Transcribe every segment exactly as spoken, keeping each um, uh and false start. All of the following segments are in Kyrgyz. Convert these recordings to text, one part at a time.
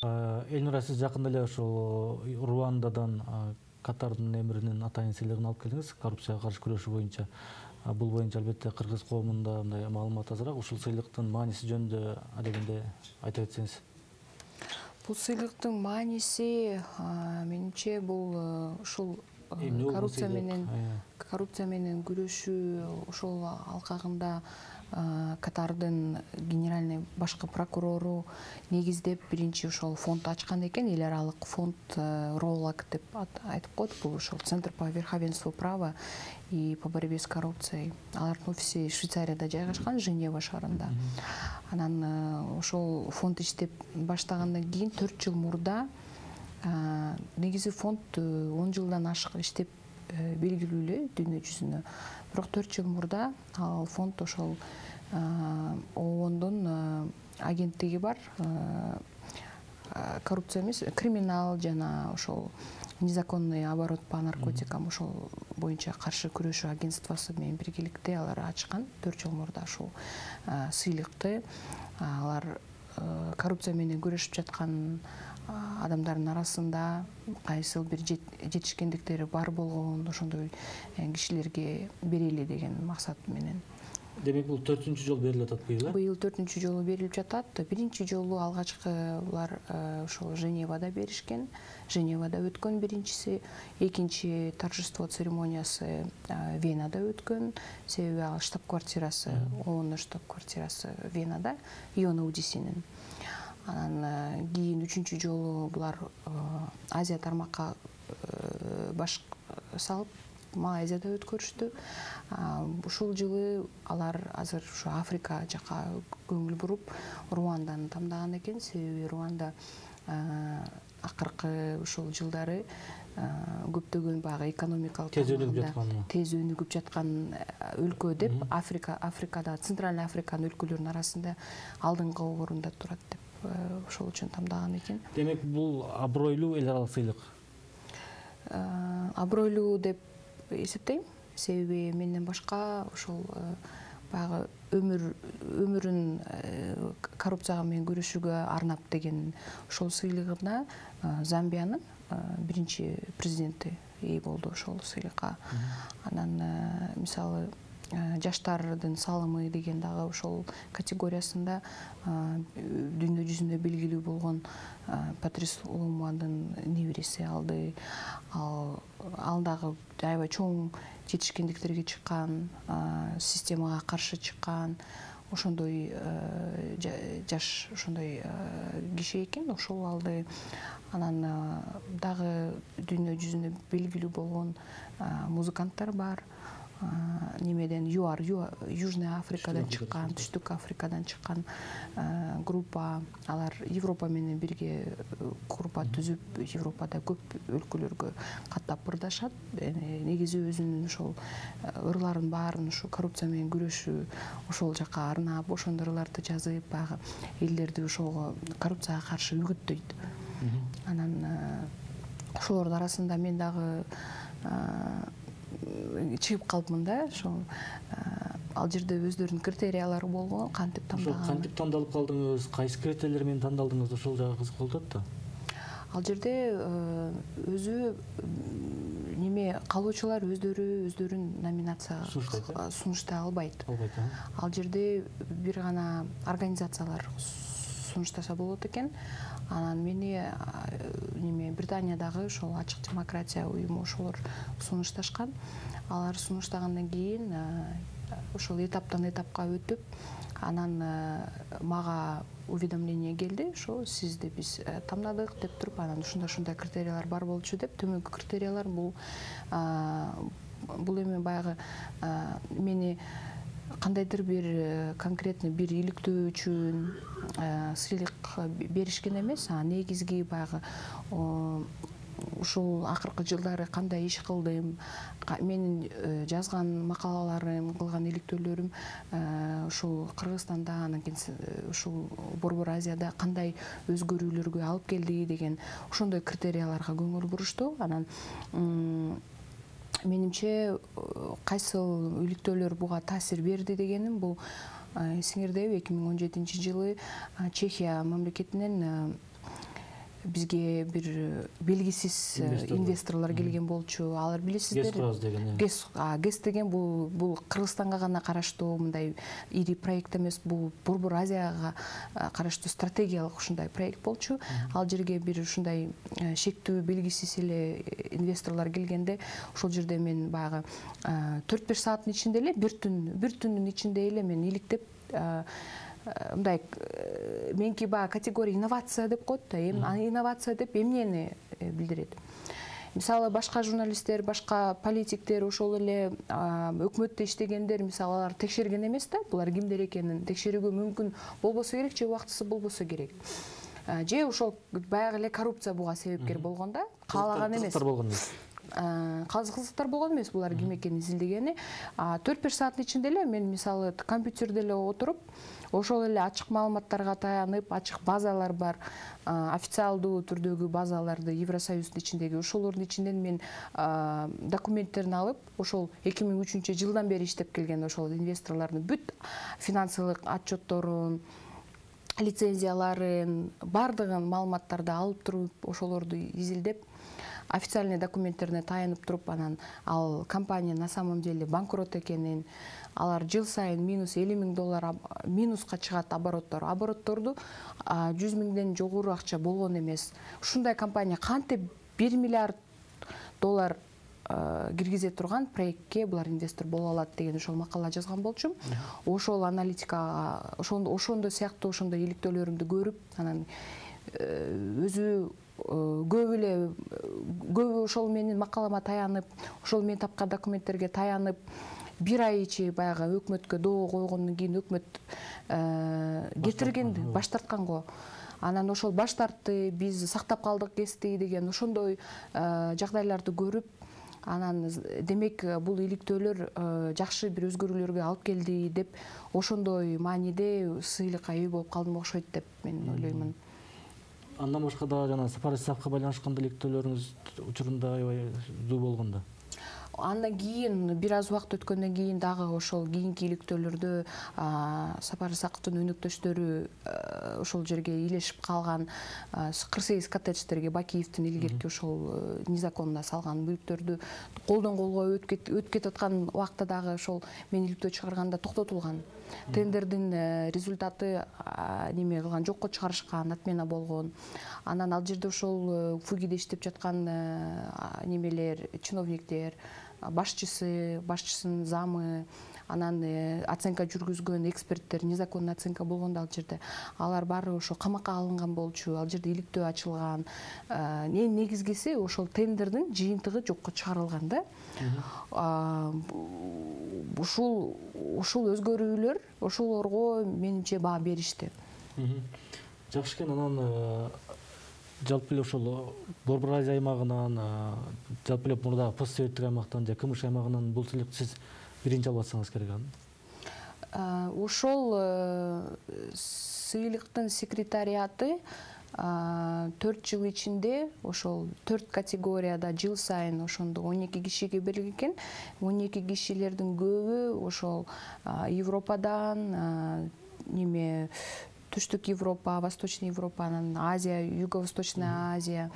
Элнура, сиз жакында эле ошол Руандадан Катардын эмиринин атайын сыйлыгын алып келдиңиз коррупцияга каршы күрөшүү боюнча. Бул боюнча албетте кыргыз коомунда мындай маалымат азыраак. Ушул сыйлыктын мааниси жөнүндө адегенде айтып өтсөңүз. Бул сыйлыктын мааниси менимче бул ушул коррупция менен коррупция менен күрөшүү ошол алкагында Катардын генеральный башкы прокурору негиздеп биринчи ошол фонд ачкан экен, эл аралык фонд Ролак деп айтып коет. Бул ошол Центр по верховенству права и по борьбе с коррупцией. Алардын офиси Швейцарияда жайгашкан, Женева шаарында. Анан ошол фонд иштеп баштагандан кийин төрт жыл мурда негизи фонд он жылдан ашык иштеп белгилүү эле дүйнө жүзүнө. Бирок төрт жыл мурда ал фонд ошол ООНдун агенттиги бар, коррупция эмес, криминал жана ошол незаконный оборот по наркотикам ошол боюнча каршы күрөшүү агентствосу менен биргеликте алар ачкан төрт жыл мурда ушул сыйлыкты. Алар коррупция менен күрөшүп жаткан адамдардын арасында кайсыл бир жетишкендиктери бар болгон ошондой кишилерге берели деген максат менен. Демек бул төртүнчү жолу берилип атат быйыл? Быйыл төртүнчү жолу берилип жатат. Биринчи жолу алгачкы булар ошол Женевада беришкен. Женевада өткөн биринчиси, экинчи торжество церемониясы Венада өткөн. Себеби ал штаб-квартирасы, ООНдун штаб-квартирасы Венада, ЮНОДЦнин. Анан кийин үчүнчү жолу булар Азия тармакка баш салып Малайзияда өткөрүштү. Ушул жылы алар азыр ушу Африка жака көңүл буруп Руанданы тамдаган экен. Себеби Руанда акыркы ушул жылдары көптөгөн баягы экономикалык тез өнүгүп жаткан өлкө деп Африка Африкада Центральный Африканын өлкөлөрүнүн арасында алдыңкы орунда турат деп ошол үчүн тамдаган экен. Демек бул абройлуу эл аралык сыйлык. Абройлуу деп эсептейм. Себеби менден башка ошол баягы өмүр өмүрүн коррупцияга менен күрөшүүгө арнап деген ошол сыйлыгына Замбиянын биринчи президенти ээ болду ошол сыйлыкка. Анан мисалы жаштардын салымы деген дагы ошол категориясында дүйнө жүзүндө белгилүү болгон Патрис Лумумбанын небереси алды. Ал ал дагы аябай чоң жетишкендиктерге чыккан, системага каршы чыккан ошондой жаш ошондой киши экен, ошол алды. Анан дагы дүйнө жүзүндө белгилүү болгон музыканттар бар. Немеден ЮАР, Южный Африкадан чыккан, Түштүк Африкадан чыккан группа. Алар Европа менен бирге группа түзүп, Европада көп өлкөлөргө каттап ырдашат. Негизи өзүнүн ошол ырларын баарын ушу коррупция менен күрөшүү ошол жака арнап, ошондой ырларды жазып, баягы элдерди ошого коррупцияга каршы үгүттөйт. Анан ошолордун арасында мен дагы чыгып калыпмын да, ошол ал жерде өздөрүнүн критериялары болгон, кантип тандаган. Ошол кантип тандалып калдыңыз, кайсы критериялер менен тандалдыңыз, ошол жагы кызык болуп атат да. Ал жерде өзү неме калоочулар өздөрү өздөрүн номинацияга сунуштай албайт. Ал жерде бир гана организациялар сунуштаса болот экен. Анан мени неме Британиядагы ошол ачык демократия уюму ошолор сунушташкан. Алар сунуштагандан кийин ошол этаптан этапка өтүп, анан мага уведомление келди, ошо сизди биз тамдадык деп туруп, анан ушундай-ушундай критериялар бар болчу деп. Төмөнкү критериялар бул бул эми баягы мени кандайдыр бир конкретный бир иликтөө үчүн сыйлык беришкен эмес, а негизги баягы ушул акыркы жылдары кандай иш кылдым, менин жазган макалаларым, кылган иликтөөлөрүм ушул Кыргызстанда, анан кийин ушул Борбор Азияда кандай өзгөрүүлөргө алып келди деген ошондой критерияларга көңүл бурушту. Анан менимче кайсыл иликтөөлөр буга таасир берди дегеним бул эсиңердеби эки миң он жетинчи жылы Чехия мамлекетинен бизге бир белгисиз инвесторлор келген болчу. Алар билесиздер, ГЭС ГЭС деген бул бул Кыргызстанга гана караштуу мындай ири проект эмес, бул Борбор Азияга караштуу стратегиялык ушундай проект болчу. Ал жерге бир ушундай шектүү белгисиз эле инвесторлор келгенде, ошол жерде мен баягы төрт беш сааттын ичинде эле, бир түн бир түндүн ичинде эле мен иликтеп, мындай меники баягы категория инновация деп коет да. Эми инновация деп эмнени билдирет? Мисалы, башка журналисттер, башка политиктер, ошол эле өкмөттө иштегендер, мисалы, алар текшерген эмес да, булар кимдер экенин текшерүүгө мүмкүн болбосо керек, же убактысы болбосо керек. Же ошол баягы эле коррупция буга себепкер болгон да, каалаган эмес. Кызыктар болгон эмес булар ким экенин изилдегени. төрт беш сааттын ичинде эле мен мисалы компьютерде эле отуруп, ошол эле ачык маалыматтарга таянып, ачык базалар бар, официалдуу түрдөгү базаларды Евросоюздун ичиндеги, ошолордун ичинен мен документтерин алып, ошол эки миң үчүнчү жылдан бери иштеп келген ошол инвесторлордун бүт финансылык отчетторун, лицензияларын, бардыгын маалыматтарды алып туруп, ошолорду изилдеп, официальный документтерине таянып туруп, анан ал компания на самом деле банкрот экенин, алар жыл сайын минус элүү миң доллар минуска чыгат обороттор. Оборотторду жүз миңден жогору акча болгон эмес. Ушундай компания кантип бир миллиард доллар киргизе турган проектке булар инвестор боло алат деген ошол макала жазган болчумун. Ошол аналитикага, ошондой сыяктуу ошондой иликтөөлөрүмдү көрүп, анан өзү көп эле көбү ошол менин макалама таянып, ошол мен тапкан документтерге таянып, бир ай ичи баягы өкмөткө доо койгондон кийин өкмөт кетирген, баш тарткан го. Анан ошол баш тартты, биз сактап калдык ГЭСти деген ошондой жагдайларды көрүп, анан демек бул иликтөөлөр жакшы бир өзгөрүүлөргө алып келди деп, ошондой мааниде сыйлыкка ээ болуп калдым окшойт деп мен ойлоймун. Андан башка да жана сапар исапка байланышкан иликтөөлөрүңүз учурунда аябай зуу болгондо. Андан кийин бир аз убакыт өткөндөн кийин дагы ошол кийинки иликтөөлөрдө Сапар Исаковдун өнөктөштөрү ошол жерге илешип калган кырк сегиз коттедждерге Бакиевдин илгерки ошол незаконно салган мүлктөрдү колдон колго өтүп кетип аткан убакта дагы ошол мен иликтөө чыгарганда токтотулган. Тендердин результаты неме кылган, жокко чыгарышкан, отмена болгон. Анан ал жерде ошол ФУГИде иштеп жаткан немелер, чиновниктер, башчысы, башчысынын замы, анан оценка жүргүзгөн эксперттер, незаконный оценка болгондо ал жерде алар баары ошо камакка алынган болчу, ал жерде иликтөө ачылган. Эң негизгиси ошол тендердин жыйынтыгы жокко чыгарылган да. Ушул ушул өзгөрүүлөр ошолорго менимче баа беришти. Жакшы экен. Анан жалпы эле ошол Борбор Азия аймагынан, жалпы эле мурдагы постсоветтик аймактан же КМШ аймагынан бул сыйлыкты сиз биринчи алып атсаңыз керек аны. Ошол сыйлыктын секретариаты төрт жыл ичинде ошол төрт категорияда жыл сайын ошондо он эки кишиге берилген экен. он эки кишилердин көбү ошол Европадан, неме Түштүк Европа, Восточный Европа, анан Азия, Юго-Восточная Азия,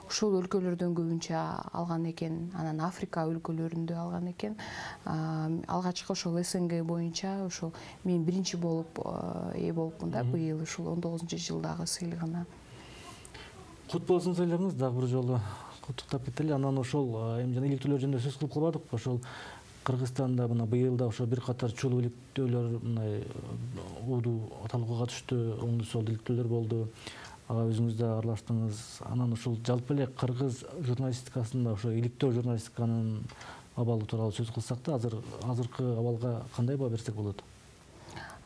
ушул өлкөлөрдөн көбүнчө алган экен. Анан Африка өлкөлөрүндө алган экен. Алгачкы ошол СНГ боюнча ошол мен биринчи болуп ээ болупмун да быйыл ушул он тогузунчу жылдагы сыйлыгына. Кут болсун сыйлыгыңыз, дагы бир жолу куттуктап кетели. Анан ошол эми жана иликтөөлөр жөнүндө сөз кылып калбадыкпы? Ошол Кыргызстанда мына быйыл да ошо бир катар чулуу иликтөөлөр мындай уудуу талкууга түштү, оңду солду иликтөөлөр болду. Ага өзүңүз да аралаштыңыз. Анан ошол жалпы эле кыргыз журналистикасында ошо иликтөө журналистиканын абалы тууралуу сөз кылсак да, азыр азыркы абалга кандай баа берсек болот?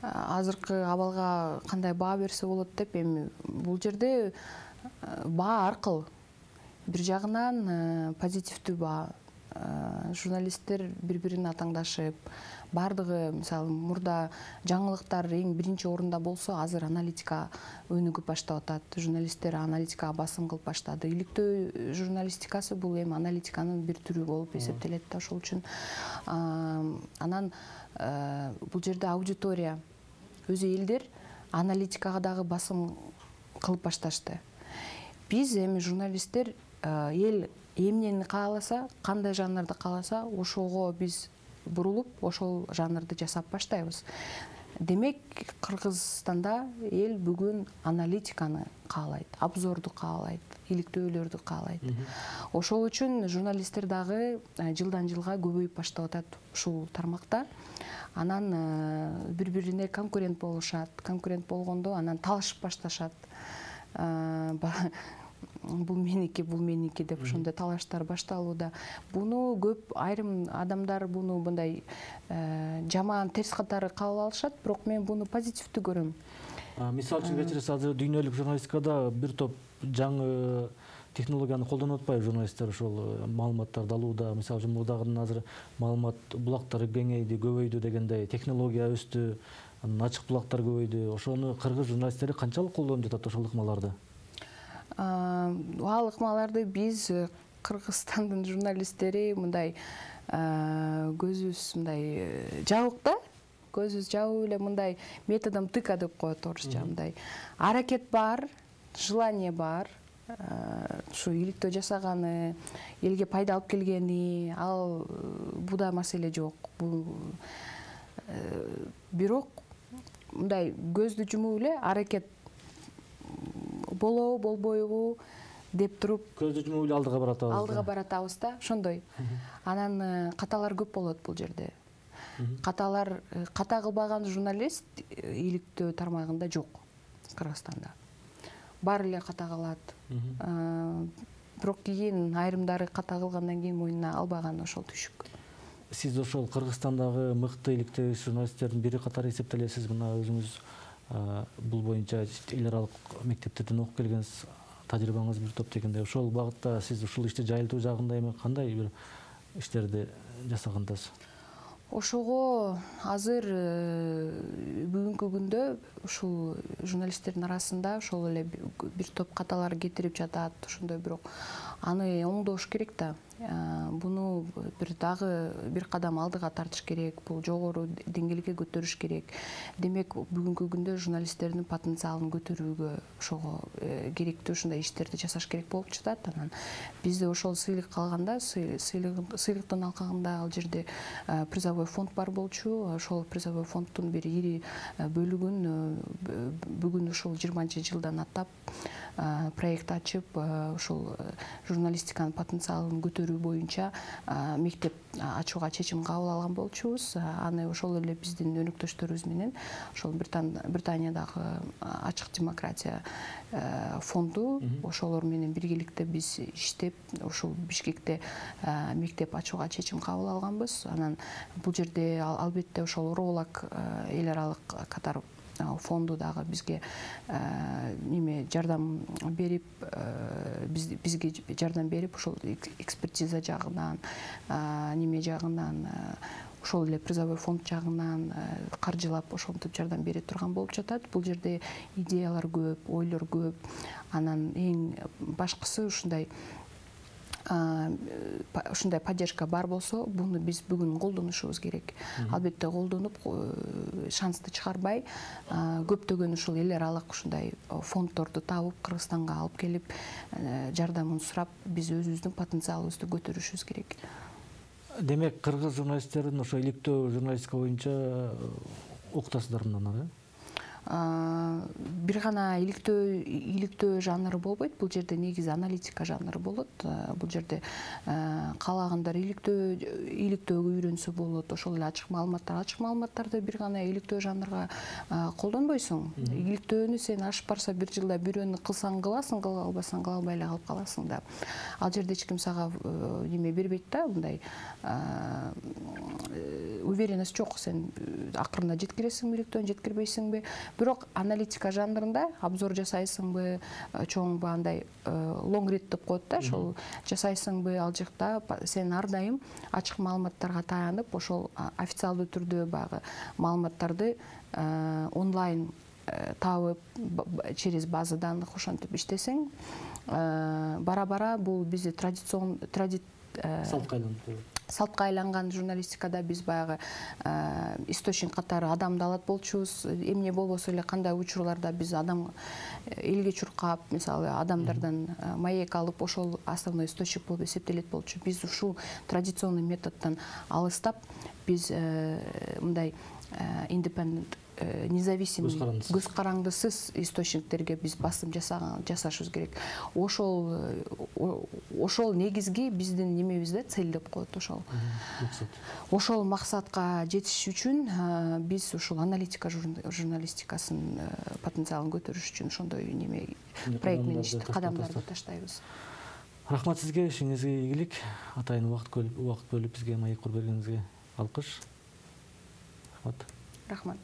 Азыркы абалга кандай баа берсе болот деп, эми бул жерде баа аркыл. Бир жагынан позитивдүү баа. Журналисттер бири-бирин атаңдашып, бардыгы, мисалы, мурда жаңылыктар эң биринчи орунда болсо, азыр аналитика өнүгүп баштап атат. Журналисттер аналитикага басым кылып баштады. Иликтөө журналистикасы бул эми аналитиканын бир түрү болуп эсептелет да, ошол үчүн. Анан бул жерде аудитория, өзү элдер аналитикага дагы басым кылып башташты. биз эми журналисттер эл эмнени кааласа, кандай жанрды кааласа, ошого биз бурулуп, ошол жанрды жасап баштайбыз. Демек, Кыргызстанда эл бүгүн аналитиканы каалайт, обзорду каалайт, иликтөөлөрдү каалайт. Ошол үчүн журналисттер дагы жылдан жылга көбөйүп баштап атат ушул тармакта. Анан бири-бирине конкурент болушат. Конкурент болгондо анан талашып башташат. Бул меники, бул меники деп ошондой талаштар башталууда. Буну көп айрым адамдар буну мындай жаман, терс катары кабыл алышат, бирок мен буну позитивдүү көрөм. Мисалы үчүн кечиресиз, азыр дүйнөлүк журналистикада бир топ жаңы технологияны колдонуп атпайбы журналисттер ошол маалыматтарды алууда? Мисалы үчүн мурдагыдан азыр маалымат булактары кеңейди, көбөйдү дегендей, технология өстү, ачык булактар көбөйдү. Ошону кыргыз журналисттери канчалык колдонуп жатат ошол ыкмаларды? Ал ыкмаларды биз Кыргызстандын журналисттери мындай көзүбүз мындай жабык да, көзүбүз жабып эле мындай методом тыка деп коет орусча, мындай аракет бар, желание бар, ушу иликтөө жасаганы, элге пайда алып келгени, ал буда маселе жок. Бул бирок мындай көздү жумуп эле аракет болобу, болбойбу деп туруп, көздү жумуп эле алдыга баратабыз. Алдыга баратабыз да, ошондой. Анан каталар көп болот бул жерде. Каталар, ката кылбаган журналист иликтөө тармагында жок Кыргызстанда. Баары эле ката кылат. Бирок кийин айрымдары ката кылгандан кийин мойнуна албаган ошол түйшүк. Сиз ошол Кыргызстандагы мыкты иликтөө журналисттердин бири катары эсептелесиз. Мына өзүңүз бул боюнча эл аралык мектептерден окуп келгенсиз, тажрыйбаңыз бир топ дегендей. Ошол багытта сиз ушул ишти жайылтуу жагында эми кандай бир иштерди жасагандасыз? Ошого азыр бүгүнкү күндө ушул журналисттердин арасында ошол эле бир топ каталар кетирип жатат, ошондой, бирок аны оңдош керек да. Буну бир дагы бир кадам алдыга тартыш керек, бул жогору деңгээлге көтөрүш керек. Демек, бүгүнкү күндө журналисттердин потенциалын көтөрүүгө ошого керектүү ушундай иштерди жасаш керек болуп жатат. Анан бизде ошол сыйлык калганда, сыйлыктын алкагында ал жерде призовой фонд бар болчу. Ошол призовой фонддун бир ири бөлүгүн бүгүн ушул жыйырманчы жылдан аттап проект ачып, ошол журналистиканын потенциалын көтөрүү боюнча мектеп ачууга чечим кабыл алган болчубуз. Аны ошол эле биздин өнөктөштөрүбүз менен ошол Британиядагы ачык демократия фонду, ошолор менен биргеликте биз иштеп, ошол Бишкекте мектеп ачууга чечим кабыл алганбыз. Анан бул жерде албетте ошол Оролак эл аралык катар фонду дагы бизге неме жардам берип, бизге жардам берип, ошол экспертиза жагынан, неме жагынан, ошол эле призовой фонд жагынан каржылап ошентип жардам бере турган болуп жатат. Бул жерде идеялар көп, ойлор көп. Анан эң башкысы ушундай ушундай поддержка бар болсо, буну биз бүгүн колдонушубуз керек. Албетте колдонуп, шансты чыгарбай, көптөгөн ушул эл аралык ушундай фонддорду табып, Кыргызстанга алып келип, жардамын сурап, биз өзүбүздүн потенциалыбызды көтөрүшүбүз керек. Демек, кыргыз журналисттерин ошо иликтөө журналистика боюнча уктасыздар мындан, э? Бир гана иликтөө иликтөө жанры болбойт. Бул жерде негизи аналитика жанры болот. Бул жерде каалагандар иликтөө иликтөөгө үйрөнсө болот. Ошол эле ачык маалыматтар, ачык маалыматтарды бир гана иликтөө жанрга колдонбойсуң. Иликтөөнү сен ашып барса бир жылда бирөөнү кылсаң кыласың, кыла албасаң кыла албай эле калып каласың да. Ал жерде эч ким сага неме бербейт да, мындай уверенность жок. Сен акырында жеткиресиңби, иликтөөнү жеткирбейсиңби? Бирок аналитика жанрында обзор жасайсыңбы, чоңбу андай long read деп коет да, ошол жасайсыңбы, ал жакта сен ар дайым ачык маалыматтарга таянып, ошол официалдуу түрдө багы маалыматтарды онлайн табып, через база данных ошентип иштесең, бара-бара бул бизде традицион салт салтка айланган журналистикада биз баягы источник катары адамды алат болчубуз. Эмне болбосо эле кандай учурларда биз адам элге чуркап, мисалы адамдардан маек алып, ошол основной источник болуп эсептелет болчу. Биз ушул традиционный методдон алыстап, биз мындай independent, независимый, көз карандысыз источниктерге биз басым жасашыбыз керек. Ошол ошол негизги биздин немебиз да, цель деп коет ошол. Ошол максатка жетиш үчүн биз ушул аналитика журналистикасынын потенциалын көтөрүш үчүн ошондой неме проект менен кадамдарды таштайбыз. Рахмат сизге, ишиңизге ийгилик. Атайын убакыт бөлүп бизге маек куруп бергениңизге алкыш. Рахмат. Рахмат.